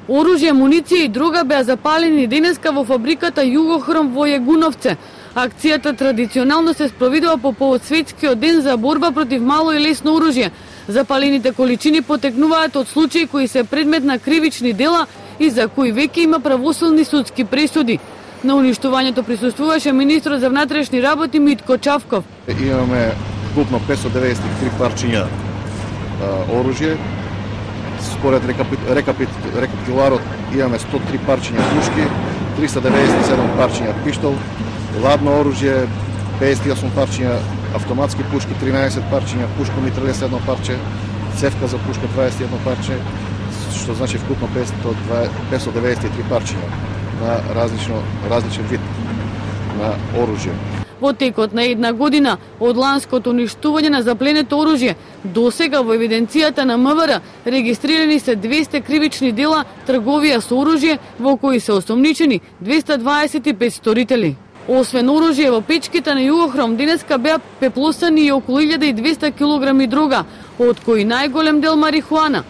Оружје, муниција и друга беа запалени денеска во фабриката Југохром во Јегуновце. Акцијата традиционално се спроведува по повод светскиот ден за борба против мало и лесно оружје. Запалените количини потекнуваат од случаи кои се предмет на кривични дела и за кои веќе има правосудни судски пресуди. На уништувањето присуствуваше министрот за внатрешни работи Митко Чавков. Имаме вкупно 593 парчиња оружје. Според рекапитуларот имаме 103 парчиња пушки, 397 парчиња пиштол, ладно оружје, 58 парчиња автоматски пушки, 13 парчиња пушко-митралес 1 парче, цевка за пушка 21 парче, што значи вкупно 593 парчиња на различен вид на оружје. Во текот на една година од ланското уништување на запленето оружје, досега во евиденцијата на МВР регистрирани се 200 кривични дела трговија со оружје во кои се осомничени 225 сторители. Освен оружје во печките на Југохром денеска беа пеплосани и околу 1200 килограми дрога, од кои најголем дел марихуана.